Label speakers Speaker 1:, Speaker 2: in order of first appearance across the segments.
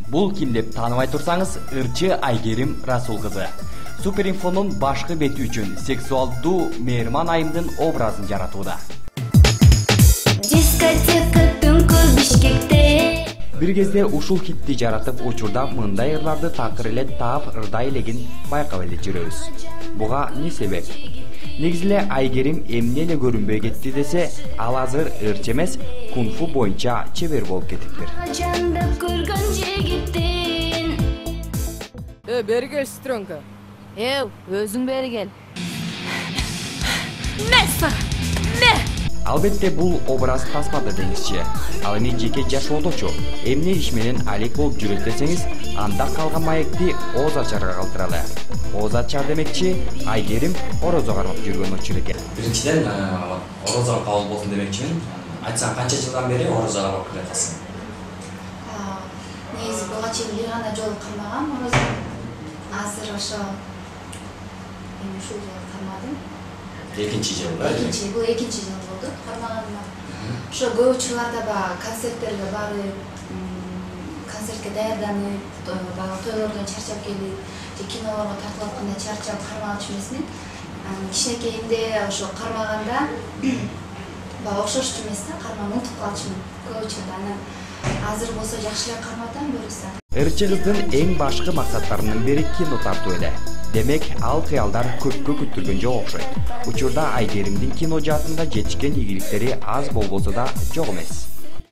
Speaker 1: Бул ким деп тааныбай турсаңыз, ырчы Айгерим Расул кызы. Суперинфонун башкы бети үчүн сексуалдуу Мээрман айымдын образын жаратууда.
Speaker 2: Дискотека түнкү Бишкекте.
Speaker 1: Бир кезде ушул хитти жаратып, учурда мындай ырларды такыр эле таап ырдай элегин байкап эле жүрөбүз. Буга эмне себеп? Негизи эле Айгерим эмне эле көрүнбөй кетти десе, ал азыр ырчы эмес, кунг-фу боюнча чебер болуп кетиптир.
Speaker 2: Жандап көргөн жигиттин.
Speaker 3: Бери кел, сестренка.
Speaker 4: Өзүң бери кел.
Speaker 1: Албетте бул образ тасмада деңизчи. Ал эми жеке жашоодочу эмне иш менен алек болуп жүрөт десеңиз, анда калган маекти ооз ачарга калтыралы. Ооз ачар демекчи Айгерим орозо кармап жүргөн учур экен.
Speaker 5: Биринчиден орозо кабыл болсун демекчимин. Айтсаң, канча жылдан бери орозо кармап келатасың?
Speaker 6: Негизи буга чейин бир гана жолу кармагам орозо. Азыр ошо ушул жолу кармадым.
Speaker 5: Экинчи жыл, да?
Speaker 6: Бул экинчи жыл болду кармаганыма. Ошо көп учурларда концерттерге барып, концертке даярданып, тойлордон чарчап келип, же кинолорго тартылып атканда чарчап кармагачу эмесмин. Кичинекейимде ошо кармаганда окшошту эмес да, кармап унутуп калчумун көп учурда. Анан азыр болсо жакшы эле карматам буюрса.
Speaker 1: Ырчы кыздын эң башкы максаттарынын бири кино тартуу эле. Демек, ал кыялдар көпкө күттүргөн жок окшойт. Учурда Айгеримдин кино жаатында жетишкен ийгиликтери аз болбосо да жок эмес.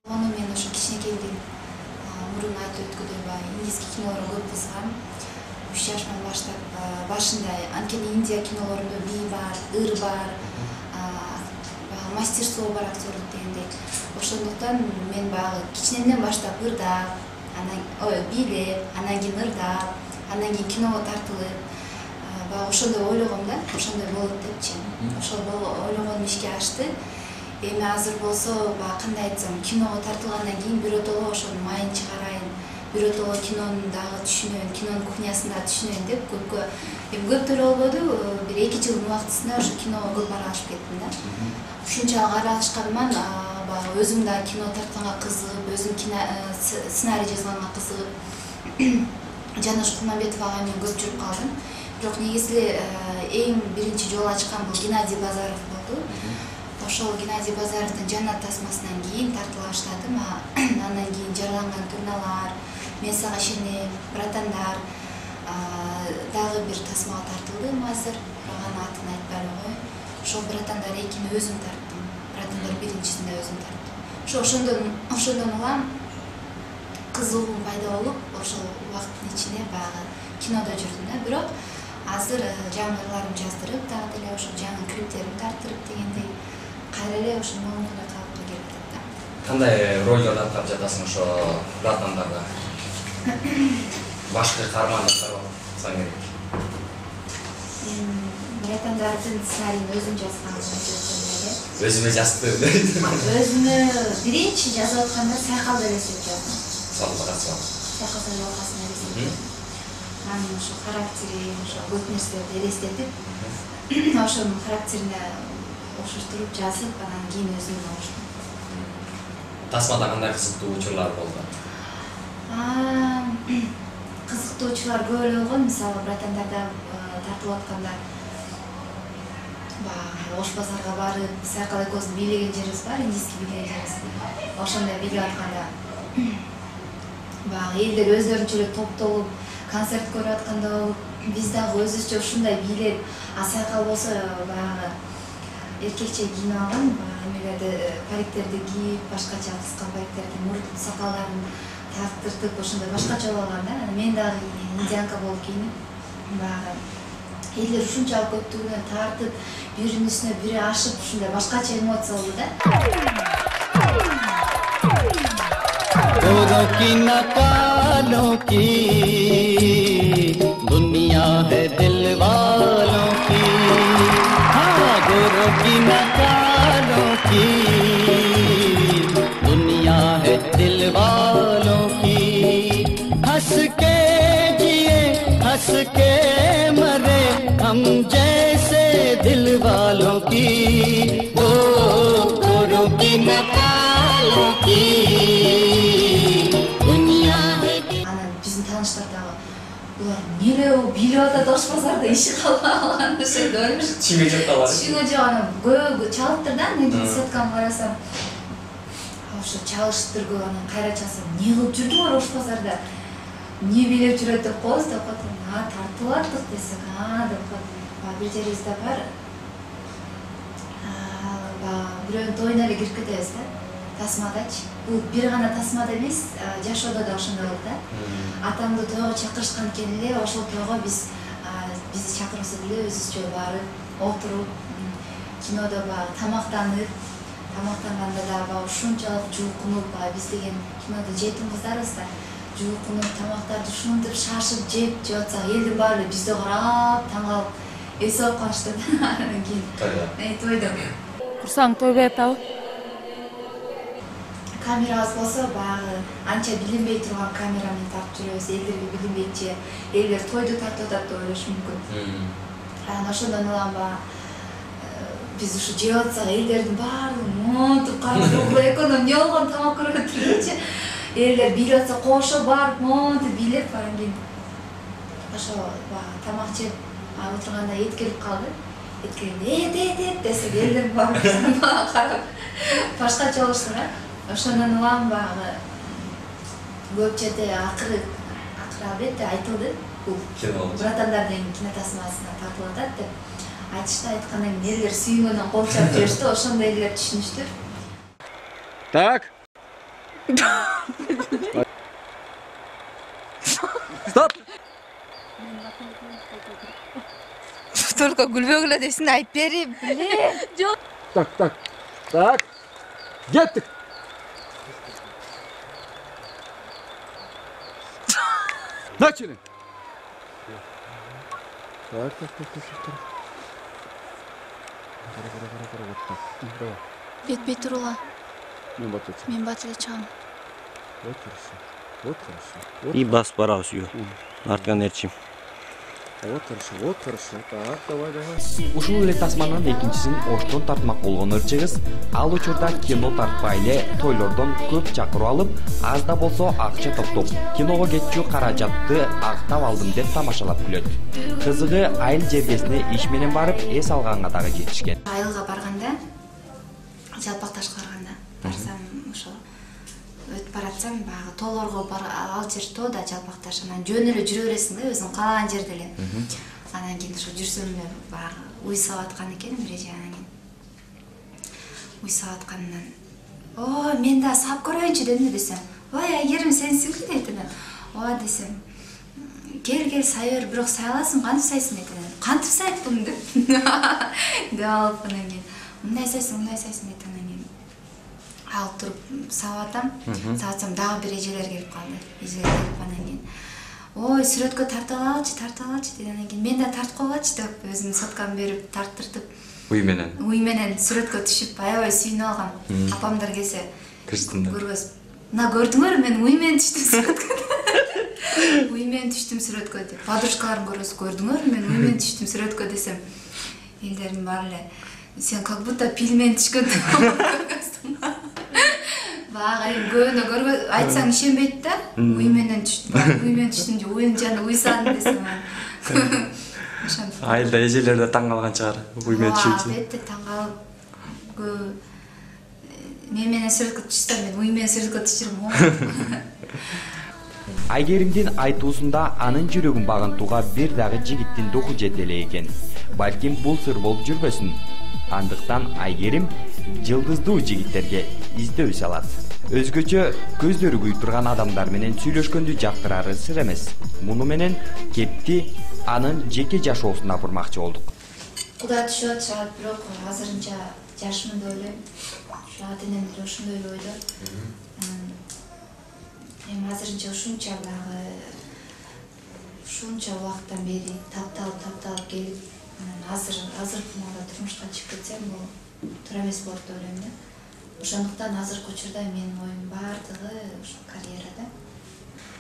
Speaker 6: Аны мен ошо кичинекейимден мурун айтып өткөндөй индийский кинолорго көп кызыгам. 3 жаштан баштап башында анткени Индия кинолорунда бий бар, ыр бар, мастерство бар актерлик дегендей. Ошондуктан мен баягы кичинемден баштап ырдап, бийлеп, анан кийин ырдап, анан кийин киного тартылып, ошондой ойлогом да, ошондой болот депчи. Ошол ойлогонум ишке ашты. Эми азыр болсо, кандай айтсам, киного тартылгандан кийин биротоло ошонун майын чыгарайын, биротоло кинонун дагы түшүнөйүн, кинонун кухнясын да түшүнөйүн деп көп деле болбоду, бир 2 жылдын убактысында ошо киного көп аралашып кеттим да. Ушунчалык аралашканыман өзүм да кино тартканга кызыгып, өзүм сценарий жазганга кызыгып, Жанаш Кулмамбетов ага менен көп жүрүп калдым. Бирок негизи эң биринчи жол ачкан бул Геннадий Базаров болду. Ошол Геннадий Базаровдун Жанат тасмасынан кийин тартыла баштадым. Андан кийин Жараланган турналар, Мен сага ишенем, Братандар, дагы бир тасмага тартылдым азыр. Ага атын айтпай эле кой. Ошол Братандар 2-ни өзүм тарттым. Братандар 1-нчисинде өзүм тарттым. Ошондон улам кызыгуум пайда болуп, ошол убакыттын ичинде баягы кинодо жүрдүм да. Бирок азыр жаңы ырларым жаздырып, дагы деле ошо жаңы клиптерим тарттырып дегендей кайра эле ошо моундуна калыпка келип атат да.
Speaker 5: Кандай ролдорду аткарып жатасың ошо Братандарда? Башкы каармандыктар болсоң керек.
Speaker 6: Братандардын сценарийин өзүм жазгам.
Speaker 5: Өзүмө жаздым.
Speaker 6: Өзүмө биринчи жазып атканда Сайкал элестетип жаздым.
Speaker 5: Сайкал
Speaker 6: элестетип. Анын ошо характери, ошо көп нерселерди элестетип, ошонун характерине окшоштуруп жазып, анан кийин өзүм окуштум.
Speaker 5: Тасмада кандай кызыктуу учурлар болду?
Speaker 6: Кызыктуу учурлар көп эле болгон. Мисалы, Братандарда тартылып атканда Ош базарга барып, Сайкал экөөбүздүн бийлеген жерибиз бар, индийский бийлеген жерибиз. Ошондой бийлеп атканда элдер өздөрүнчө эле топтолуп концерт көрүп атканда болуп, биз дагы өзүбүзчө ушундай бийлеп, Сайкал болсо баягы эркекче кийинип алган, эмелерди, париктерди кийип, башкача кыска париктерди, мурут сакалдарын тартыртып, ошондой башкача болуп алган да. Мен дагы индианка болуп кийинип, баягы элдер ушунчалык көптүгүнөн тартып, биринин үстүнө бири ашып, ушундай башкача эмоция болду да.
Speaker 7: गोरों की न कालों की दुनिया है दिल वालों की, हाँ गोरों की न कालों की दुनिया है दिल वालों की। हंस के जिए हंस के मरे हम जैसे दिल वालों की, ओ गोरों की न कालों की
Speaker 6: жүрүп атат Ош базарда иши калбай калган ошондо ойлош.
Speaker 5: Түшүнгө жок калар.
Speaker 6: Түшүнгө жок анан көбү чалыптыр да, мен сотканы карасам. Ошо чалыштыр көп, анан кайра чалсам, эмне кылып жүрдүңөр Ош базарда? Эмне билеп жүрөт деп коебуз деп коет. Тартып аттык десек, деп коет. Бир жерибизде бар. Бирөөнүн тоюна эле кирип кетебиз да. Тасмадачы. Бул бир гана тасмада эмес, жашоодо да ошондой болду да. Атамды тойго чакырышкан экен эле, ошол тойго бизди чакырса деле өзүбүзчө барып, отуруп, кинодо тамактанып, тамактанганда да ушунчалык жуукунуп, биз деген кинодо жетим кыздарбыз да. Жуукунуп, тамактарды ушинтип шашып жеп атсак, элдин баары бизди карап, таң калып, эс алып калышты да. Анан кийин тойдо.
Speaker 4: Курсаң той атабы?
Speaker 6: Камерабыз болсо баягы анча билинбей турган камера менен тартып жүрөбүз, элдерге билинбейчи, элдер тойду тартып атат деп ойлошу мүмкүн. Анан ошондон улам биз ушу жеп атсак, элдердин баардыгы монтуп карап экөөм эмне болгон тамак көрүп отурчу. Элдер бийлеп атса кошо барып монтуп бийлеп, анан кийин ошо тамак жеп отурганда эт келип калды. Эт келгенде эт десек, элдер барып карап башкача болушту да. Ошондон улам баягы көп жерде акыры албетте айтылды. Бул братандардын кинотасмасына тартылып атат деп айтышты. Айткандан кийин элдер сүйүнгөндөн кол чапып жиберишти. Ошондо элдер түшүнүштү.
Speaker 8: Так. Стоп.
Speaker 6: Только күлбөгүлө десин айтып берип. Жок.
Speaker 8: Так. Кеттик. Начали. Так.
Speaker 6: Бет турула.
Speaker 8: Мен
Speaker 6: батылы чам.
Speaker 8: Вот хорошо.
Speaker 9: И бас барабыз үйгө. Артынан ээрчим.
Speaker 8: Вот хорошо. Так, давай.
Speaker 1: Ушул эле тасманын экинчисин Оштон тартмак болгон ырчыгыз ал учурда кино тартпай эле тойлордон көп чакырып алып, аз да болсо акча топтоп, киного кетчү каражатты актап алдым деп тамашалап күлөт. Кызыгы айыл жергесине иш менен барып эс алганга дагы жетишкен.
Speaker 6: Айылга барганда, жалпакташка барганда, барсам ошо өтүп баратсам, баягы тоолорго ал жер тоо да жалпакташ, анан жөн эле жүрө бересиң да, өзүң каалаган жерде эле. Анан кийин ошо жүрсөм эле баягы уй сап аткан экен бир эже, анан кийин уй сап атканынан, "О, мен да сап көрөйүнчү" дедим десем, "Ой, Айгерим сенсиңби?" дейт анан. "Ооба" десем, "Кел сай бер, бирок сай аласың, кантип сайсың?" дейт анан. "Кантип сайттым" деп. Деп алып анан кийин, "Мындай сайсың" дейт анан кийин. Алып туруп сабатам, сабатсам дагы бир эжелер келип калды. Эжелер келип анан кийин, "Ой, сүрөткө тартып алачы" дейт. Анан кийин, "Мен да тартып койгочу" деп өзүнүн соткамды берип тарттыртып, уй менен сүрөткө түшүп аябай сүйүнүп алгам. Апамдар келсе, көрбөс. "Мына көрдүңөр, мен уй менен түштүм сүрөткө." Уй менен түштүм сүрөткө деп. Подружкаларым көрдүңөр, мен уй менен түштүм сүрөткө десем, элдердин баары эле, "Сен как будто пил менен түшкөндү көргөнсүң." Багы көөнө көргө айтсаң ишенбейт да. Уй менен түштүм же уйдун жанында уй саадым десем.
Speaker 5: Айылда эжелер да таң калган чыгар. Уй менен түшүп.
Speaker 6: Албетте таң калып, мен менен сүрөткө түшсөм, мен уй менен сүрөткө түшүрөм.
Speaker 1: Айгеримдин айтуусунда анын жүрөгүн багынтууга бир дагы жигиттин духу жете эле экен. Балким бул сыр болуп жүрбөсүн. Андыктан Айгерим жылдыздуу жигиттерге издөө салат. Өзгөчө көздөрү күйүп турган адамдар менен сүйлөшкөндү жактырары сыр эмес. Муну менен кепти анын жеке жашоосуна бурмакчы болдук.
Speaker 6: Кудай түшүп атышат, бирок азырынча жашмын деп ойлойм. Ата-энем деле ошондой эле ойдо. Эми азырынча ушунча убакыттан бери тапталып келип, азыркы маалда турмушка чыгып кетсем, бул туура эмес болот деп ойлойм да. Ошондуктан азыркы учурда менин оюм баардыгы ошо карьерада.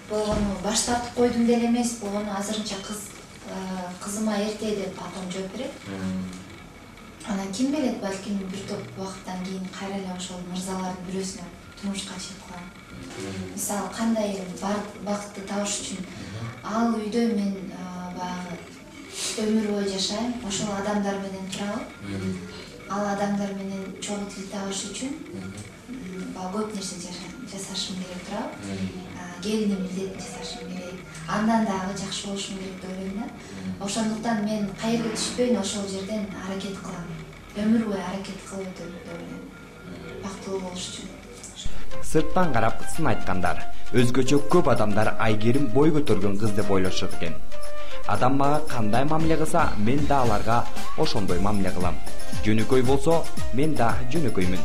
Speaker 6: Болгону баш тартып койдум деле эмес, болгону азырынча кызыма эрте деп апам жооп берет. Анан ким билет, балким бир топ убакыттан кийин кайра эле ошол мырзалардын бирөөсүнө турмушка чыгып калам. Мисалы кандай бакытты табыш үчүн ал үйдө мен баягы өмүр бою жашайм, ошол адамдар менен турабы. Ал адамдар менен чогуу тил табыш үчүн көп нерсе жасашым керек турабы. Келиним билет жасашым керек. Андан дагы жакшы болушум керек деп ойлойм да. Ошондуктан мен кайерге түшпөйүн, ошол жерден аракет кылам. Өмүр бою аракет кылып өтөм деп ойлойм. Бактылуу болуш үчүн.
Speaker 1: Сырттан карап сын айткандар, өзгөчө көп адамдар Айгерим бой көтөргөн кыз деп ойлошот экен. Адам мага кандай мамиле кылса, мен да аларга ошондой мамиле кылам. Жөнөкөй болсо, мен да жөнөкөймүн.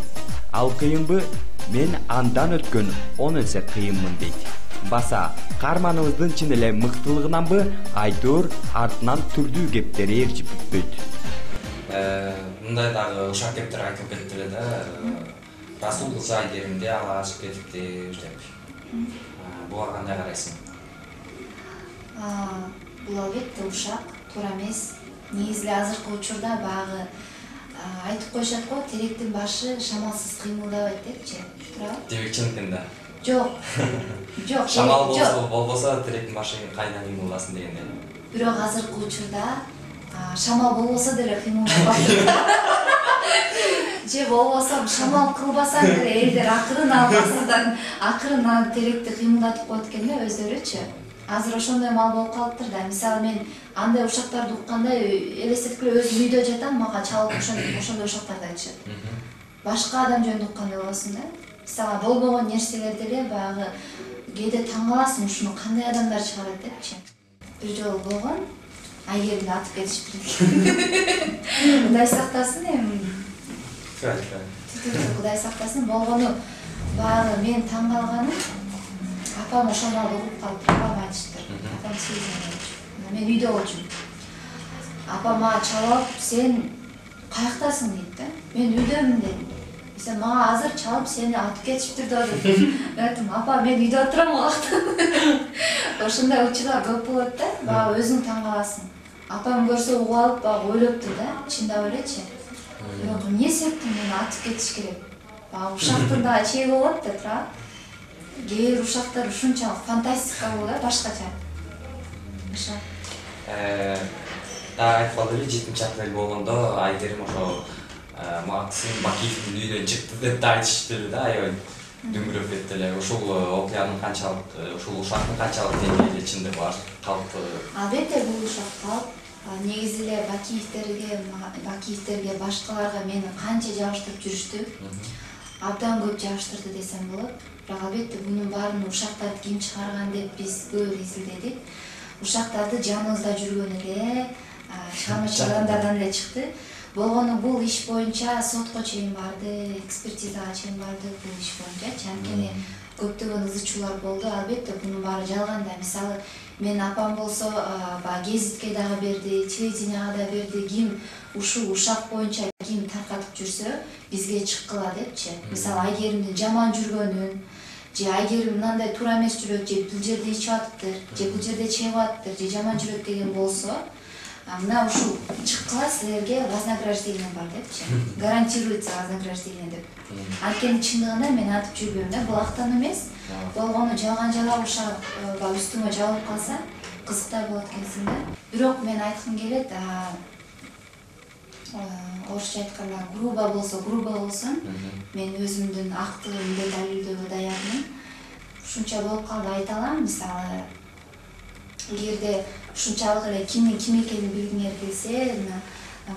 Speaker 1: Ал кыйынбы? Мен андан өткөн 10 эсе кыйынмын дейт. Баса, каарманыбыздын чын эле мыктылыгынанбы, айтор артынан түрдүү кептери ээрчип бүтпөйт.
Speaker 5: Мындай дагы ушак кептер айтып кетти да. Расул кызы Айгеримди алгачып кетипти деп. Буга кандай карайсың?
Speaker 6: Бул албетте ушак, туура эмес. Негизи азыркы учурда баягы айтып коюшат го, теректин башы шамалсыз кыймылдабайт депчи. Туурабы?
Speaker 5: Демек чын экен да.
Speaker 6: Жок. Жок.
Speaker 5: Шамал болбосо теректин башы кайдан кыймылдасын дегендей.
Speaker 6: Бирок азыркы учурда шамал болбосо деле кыймылдабайт. Же болбосо шамал кылбасаң деле элдер акырын теректи кыймылдатып коет экен да өздөрүчү. Азыр ошондой мал болуп калыптыр да. Мисалы мен андай ушактарды укканда элестетип эле өзүм үйдө жатам, мага чалып ошондой ушактарды айтышат. Башка адам жөнүндө уккандай болосуң да. Мисалы болбогон нерселерди эле баягы кээде таң каласың, ушуну кандай адамдар чыгарат депчи. Бир жолу болгон, Айгеримди атып кетишиптир экен. Кудай сактасын эми. Кудай сактасын, болгону баягы мен таң калганым, апам ошондо угуп калып, апам айтыштыр. Апам сезген. Мен үйдө болчумун. Апам мага чалып, сен каяктасың дейт да. Мен үйдөмүн дедим. Сен мага азыр чалып сени атып кетишиптир да деп. Мен айттым, апа мен үйдө отурам убакта. Ошондой учурлар көп болот да. Баягы өзүң таң каласың. Апам көрсө угуп алып, баягы ойлоптур да. Чындап элечи. Бирок эмне себептен мени атып кетиш керек? Баягы ушактын дагы чеги болот да, туурабы? Кээ бир ушактар ушунчалык фантастика болот, башкача. Ошо.
Speaker 5: Дагы айтып калды эле 7-апрель болгондо Айгерим ошо Максим Бакиевдин үйдөн чыкты деп да айтыштыр да, аябай дүңгүрөп кетти эле. Ушул окуянын канчалык, ушул ушактын канчалык деңгээлде чындыгы бар калыпты?
Speaker 6: Албетте бул ушак калп. Негизи эле Бакиевтерге башкаларга мени канча жабыштырып жүрүштү. Абдан көп жабыштырды десем болот. Бирок албетте мунун баарын ушактарды ким чыгарган деп биз көп изилдедик. Ушактарды жаныбызда жүргөн эле чыгармачыл адамдардан эле чыкты. Болгону бул иш боюнча сотко чейин барды, экспертизага чейин барды бул иш боюнча. Анткени көптөгөн ызычуулар болду. Албетте мунун баары жалган да. Мисалы мен апам болсо гезитке дагы берди, телевиденияга да берди. Ким ушул ушак боюнча ким таркатып жүрсө бизге чыккыла депчи. Мисалы Айгеримдин жаман жүргөнүн, же Айгерим мындай туура эмес жүрөт, же бул жерде ичип атыптыр, же бул жерде чегип атыптыр, же жаман жүрөт деген болсо, мына ушул чыккыла силерге вознаграждение бар депчи. Гарантируется вознаграждение деп. Анткени чындыгында мен атып жүрбөйм да, бул актан эмес. Болгону жалган ушак үстүмө жабылып калса, кызыктай болот экенсиң да. Бирок мен айткым келет, орусча айтканда грубо болсун, мен өзүмдүн актылыгымды далилдөөгө даярмын. Ушунча болуп калды айта алам. Мисалы, эгерде ушунчалык эле кимдин ким экенин билгиңер келсе,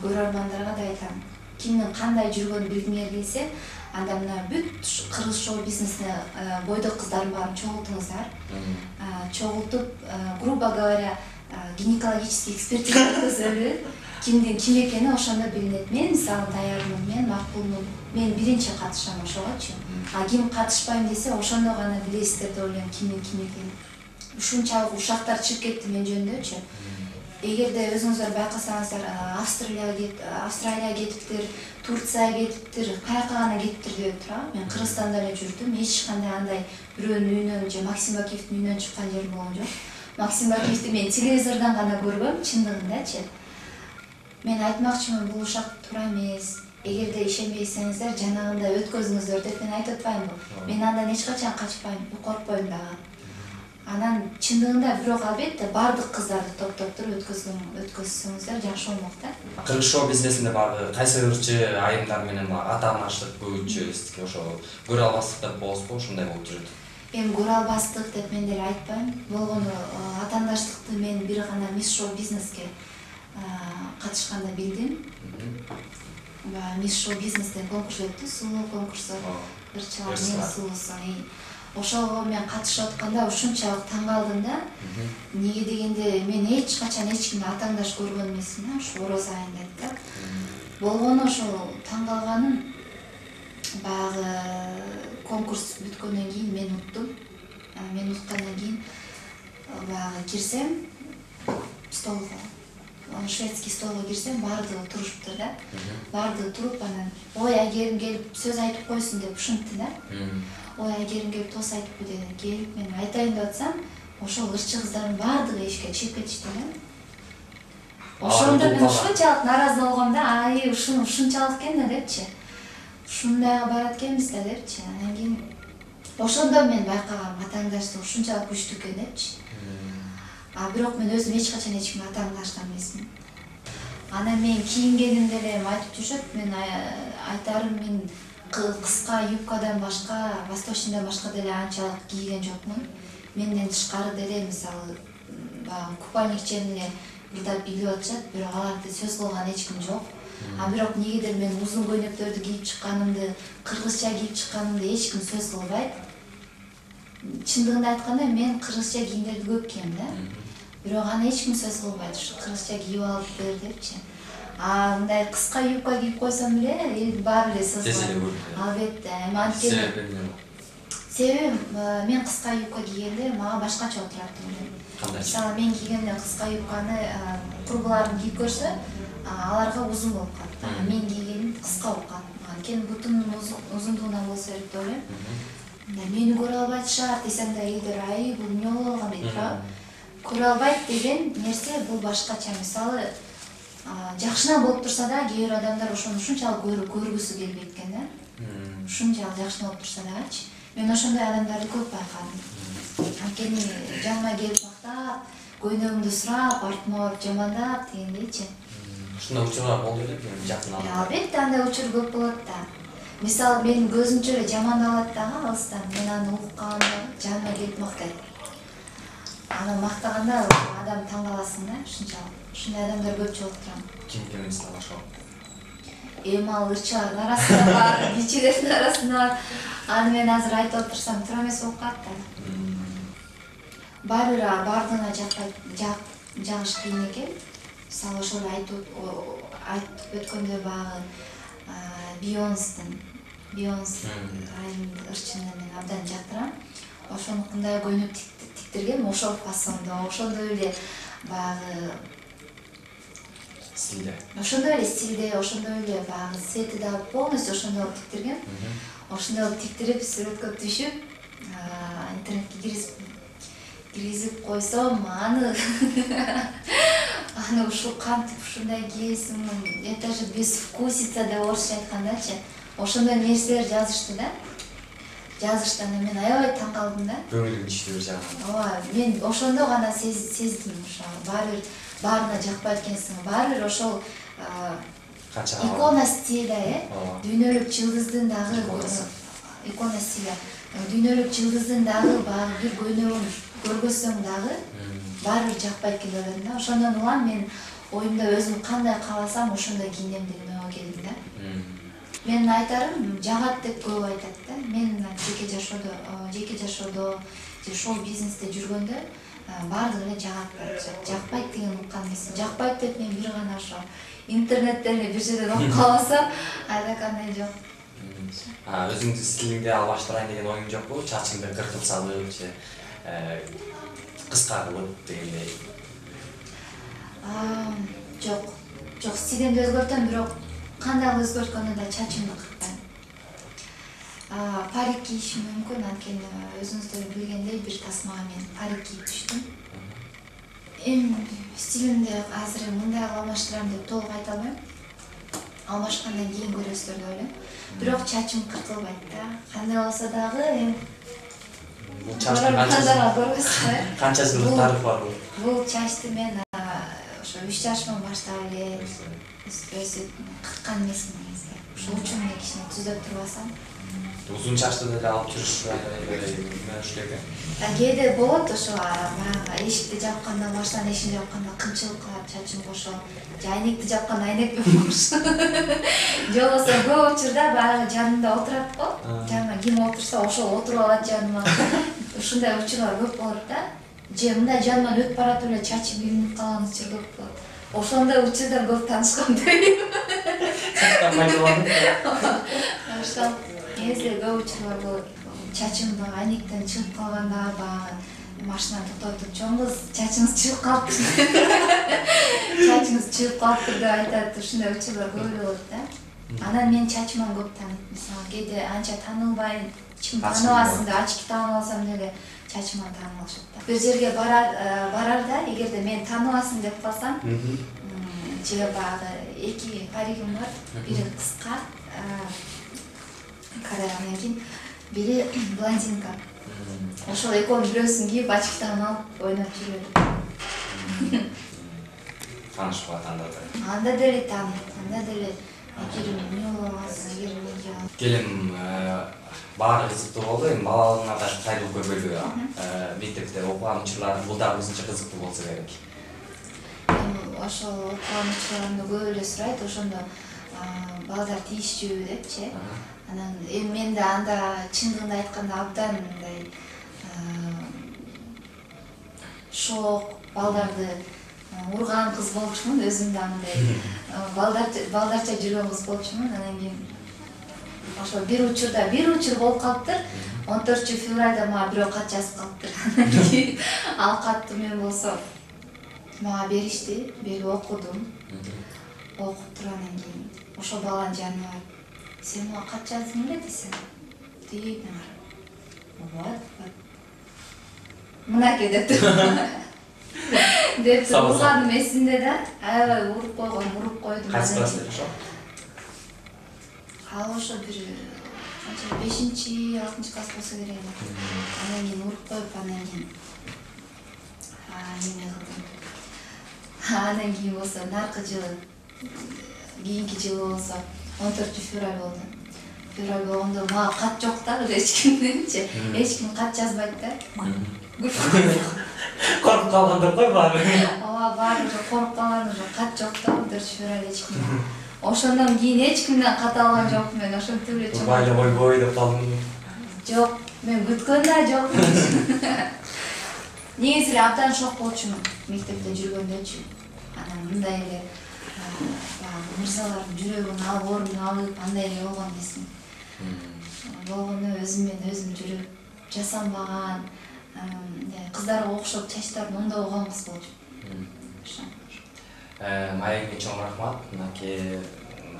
Speaker 6: көрөрмандарга да айтам. Кимдин кандай жүргөнүн билгиңер келсе, анда мына бүт кыргыз шоу бизнесине бойдок кыздардын баарын чогултуңуздар. Чогултуп, грубо говоря, гинекологический экспертиза өткөзөлү. Кимдин ким экени ошондо билинет. Мен мисалы даярмын, мен макулмун. Мен биринчи катышам ошогочу. Ким катышпайм десе, ошондо гана билесиздер деп ойлойм кимдин ким экенин. Ушунчалык ушактар чыгып кетти мен жөнүндөчү. Эгерде өзүңүздөр байкасаңыздар, Австралияга кетиптир, Турцияга кетиптир, каяка гана кетиптир деп турам. Мен Кыргызстанда эле жүрдүм. Эч кандай андай бирөөнүн үйүнөн же Максим Бакиевдин үйүнөн чыккан жерим болгон жок. Максим Бакиевди мен телевизордон гана көргөм, чындыгындачы. Мен айтмакчымын, бул ушак туура эмес. Эгерде ишенбейсеңиздер, жанагында өткөзүңүздөр деп мен айтып атпаймынбы? Мен андан эч качан качпайм, коркпойм дагы. Анан чындыгында бирок албетте бардык кыздарды топтоп туруп өткөзсөңүздөр жакшы болмок да.
Speaker 5: Кыргыз шоу бизнесинде багы кайсы ырчы айымдар менен атаанаштык көбүнчө ошо көрө албастык деп болосузбу, ушундай болуп жүрөт.
Speaker 6: Эми көрө албастык деп мен деле айтпайм. Болгону атаандаштыкты мен бир гана Мисс Шоу бизнеске катышканда билдим. Мисс Шоу бизнестен конкурс өттү, сулуу конкурсу. Ырчылар мен сулуусу. Ошого мен катышып атканда ушунчалык таң калдым да. Неге дегенде мен эч качан эч кимди атаандаш көргөн эмесмин да, ушу ороз айында да. Болгону ошол таң калганым баягы конкурс бүткөндөн кийин мен уттум. Мен уткандан кийин баягы кирсем столго, шведский столго кирсем баардыгы турушуптур да. Баардыгы туруп анан ой Айгерим келип сөз айтып койсун деп ушинтти да. Ой Айгерим келип тос айтыппы dedi. Келип мен айтайын деп атсам, ошол ырчы кыздардын баардыгы эшикке чыгып кетишти да. Ошондо мен ушунчалык наразы болгом да, ай ушунчалык экен да депчи. Ушундайга барат экенбиз да депчи. Анан кийин ошондо мен байкагам атаандаштык ушунчалык күчтүү экен депчи. Бирок мен өзүм эч качан эч кимди атаандашкан эмесмин. Анан мен кийингенимде эле айтып жүрүшөт, мен айтарым мен кыска юбкадан башка, восточныйдан башка деле анчалык кийген жокмун. Менден тышкары деле мисалы баягы купальник чен эле мурдап илип атышат, бирок аларды сөз кылган эч ким жок. Бирок негедир мен узун көйнөктөрдү кийип чыкканымды, кыргызча кийип чыкканымды эч ким сөз кылбайт. Чындыгында айтканда мен кыргызча кийимдерди көп кийем да. Бирок аны эч ким сөз кылбайт, ушу кыргызча кийип алып бер депчи. Мындай кыска юбка кийип койсом эле эл баары эле сөз кылат. Албетте, эми анткени себеби мен кыска юбка кийгенде мага башкача отурат элем. Мисалы мен кийгенде кыска юбканы курбуларым кийип көрсө, аларга узун болуп калат. Мен кийгеним кыска болуп калат. Анткени бутумдун узундугунан болсо керек деп ойлойм. Мени көрө албайт десем да элдер ай бул эмне болуп калган дейт. Көрө албайт деген нерсе бул башкача. Мисалы жакшына болуп турса да, кээ бир адамдар ошону ушунчалык көргүсү келбейт экен да. Ушунчалык жакшына болуп турса дагычы. Мен ошондой адамдарды көп байкадым. Анткени жаныма келип мактап, көйнөгүмдү сурап, артыма барып жамандап дегендейчи.
Speaker 5: Ушундай учурлар болду эле жакын арада.
Speaker 6: Албетте андай учур көп болот да. Мисалы мен көзүмчө эле жамандалат дагы алыстан. Мен аны угуп калганда жаныма келип мактайт. Аны мактаганда адам таң каласың да, ушунчалык. Ушундай адамдар көп жолуктурам.
Speaker 5: Ким экен мисалы ошол?
Speaker 6: Эми ал ырчылардын арасында бар, бийчилердин арасында бар. Аны мен азыр айтып отурсам туура эмес болуп калат да. Баары бир баардыгына жагыш кийин экен. Мисалы ошол айтып өткөндө баягы Бейонстун ырчыны мен абдан жактырам. Ошондой көйнөк тиктиргем, ошол фасондо, ошондой эле баягы
Speaker 5: стилде.
Speaker 6: Ошондой эле стилде, ошондой эле баягы цвети да полностью ошондой болуп тиктиргем. Ошондой болуп тиктирип, сүрөткө түшүп, интернетке киргизип койсом, аны ушул кантип ушундай кийесиң, это же безвкусица деп орусча айткандачы. Ошондой нерселер жазышты да. Жазыштан мен аябай таң калдым да.
Speaker 5: Көңүлүм түштү бир жагынан.
Speaker 6: Мен ошондо гана сездим, ошо баарына жакпайт экенсиң. Баары бир ошол икона стиля, дүйнөлүк жылдыздын дагы икона стиля. Дүйнөлүк жылдыздын дагы баягы бир көйнөгүн көргөзсөң дагы баары бир жакпайт экен деп ойлодум да. Ошондон улам мен оюмда өзүм кандай кааласам ошондой кийинем деген ойго келдим да. Мен айтарым жагат деп көп айтат да. Мен жеке жашоодо же шоу бизнесте жүргөндө баардыгы эле жагат. Жакпайт деген уккан эмес. Жакпайт деп мен бир гана ошо интернеттен эле бир жерден окуп калсам, ада кандай жок.
Speaker 5: Өзүңдүн стилиңди албаштырайын деген оюң жокпу? Чачыңды кыркып салып же кыска кылып дегендей.
Speaker 6: Жок. Жок, стилимди өзгөртөм, бирок кандай өзгөрткөндө да чачымды кыркпайм. Парик кийишим мүмкүн, анткени өзүңүздөр билгендей бир тасмага мен парик кийип түштүм. Эми стилимди азыр мындай алмаштырам деп толук айта албайм. Алмашкандан кийин көрөсүздөр деп ойлойм. Бирок чачым кыркылбайт да. Кандай болсо дагы
Speaker 5: Бул чачтын канча жылдык тарыхы бар бул?
Speaker 6: Бул чачты мен ошо 3 жашыман баштап эле өсүп кырккан эмесмин негизги. Ошол үчүн мен кичине түзөп турбасам.
Speaker 5: Узун чачты деле алып жүрүш экен.
Speaker 6: Кээде болот ошо баягы эшикти жапканда, машинанын эшигин жапканда кымчылык кылат, чачым кошом. Же айнекти жапканда айнек менен кошом. Же болбосо көп учурда баягы жанымда отурат го. Жаныма ким отурса ошол отуруп алат жаныма. Ушундай учурлар көп болот да. Же мындай жаныман өтүп баратып эле чачым илинип калган учур көп болот. Ошондой учурда көп таанышкан дейм. Ошол негизи көп учурлар болот. Чачым айнектен чыгып калганда баягы машинаны токтотуп, чоң кыз, чачыңыз чыгып калыптыр. Чачыңыз чыгып калыптыр деп айтат. Ушундай учурлар көп болот да. Анан мен чачыман көп тааныйт. Мисалы кээде анча таанылбайм, чим тааныбасын деп ачки таанып алсам деле чачыман таанып алышат да. Бир жерге барарда, эгерде мен тааныбасын деп калсам, же баягы эки паригим бар, бири кыска, карагандан кийин бири блондинка. Ошол экөөнүн бирөөсүн кийип ачки таанып алып ойноп жүрөт.
Speaker 5: Таанышпа анда да.
Speaker 6: Анда деле тааныйт, анда деле эгер эмне болбосун, эгер эмне
Speaker 5: Келим баары кызыктуу болду, эми балалыгыңа да кайрылып көрбөйбү? Мектепте окуган учурлар бул дагы өзүнчө кызыктуу болсо керек.
Speaker 6: Ошол окуган учурларымды көп эле сурайт, ошондо балдар тийишчүбү депчи. Анан эми мен да анда чындыгын айтканда абдан мындай шок, балдарды урган кыз болчумун, өзүм да мындай балдарча жүргөн кыз болчумун. Анан кийин ошо бир учур болуп калыптыр. 14 февралда мага бирөө кат жазып калыптыр. Анан кийин ал катты мен болсо мага беришти, берип окудум. Окуп тургандан кийин ошол баланын жанына барып, сен мага кат жаздың эле десем, дейт мен карап. Мынаке деп тур. Деп турганым эсимде да, аябай уруп койдум.
Speaker 5: Кайсы класс деп ошо?
Speaker 6: Ал ошо бир 5-6 класс болсо керек. Анан кийин уруп коюп, анан кийин неме кылдым. Анан кийин болсо наркы жылы, кийинки жылы болсо 14 февраль болду. Февраль болгондо мага кат жок да, эч кимденчи. Эч ким кат жазбайт да.
Speaker 5: Коркуп калгандыр го баары.
Speaker 6: Ооба, баары коркуп калган, кат жок да, 14 февраль эч ким. Ошондон кийин эч кимден кат алган жокмун мен, ошентип эле чоң.
Speaker 5: Турбай эле койбой деп калдым.
Speaker 6: Жок, мен күткөн да жок. Негизи эле абдан шок болчумун мектепте жүргөндөчү. Анан мындай эле мырзалардын жүрөгүн алып, ордун алып, андай эле болгон эмесмин. Болгону өзүм жүрүп жасанбаган, кыздарга окшоп чачтарын оңдобогон кыз болчумун.
Speaker 5: Маекке чоң рахмат. Мынакей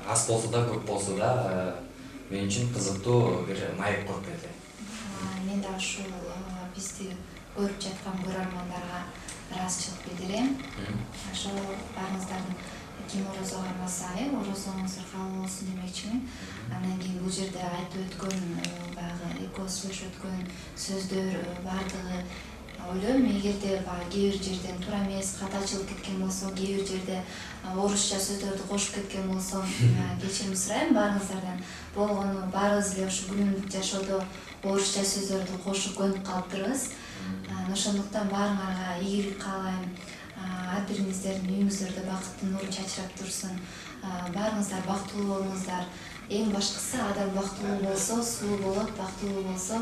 Speaker 5: аз болсо да, көп болсо да мен үчүн кызыктуу бир маек куруп берди.
Speaker 6: Мен да ушул бизди көрүп жаткан көрөрмандарга ыраазычылык билдирем. Ошо баарыңыздардын ким орозо кармаса, орозоңуз кабыл болсун демекчимин. Андан кийин бул жерде айтып өткөн баягы эко слыш өткөн сөздөр баардыгы ойлойм, эгерде кээ бир жерден туура эмес, катачылык кеткен болсо, кээ бир жерде орусча сөздөрдү кошуп кеткен болсом, кечирим сурайм баарыңыздардан. Болгону баарыбыз эле ушу күнүмдүк жашоодо орусча сөздөрдү кошуп көнүп калыптырбыз. Ошондуктан баарыңарга ийгилик каалайм. Ар бириңиздердин үйүңүздөрдө бакыттын нуру чачырап турсун. Баарыңыздар бактылуу болуңуздар. Эң башкысы адам бактылуу болсо, сулуу болот, бактылуу болсо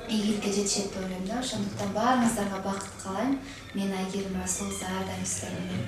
Speaker 6: ийгиликке жетишет деп ойлойм да. Ошондуктан баарыңыздарга бакыт каалайм. Мен Айгерим Расул, ар дайым сиздер менен.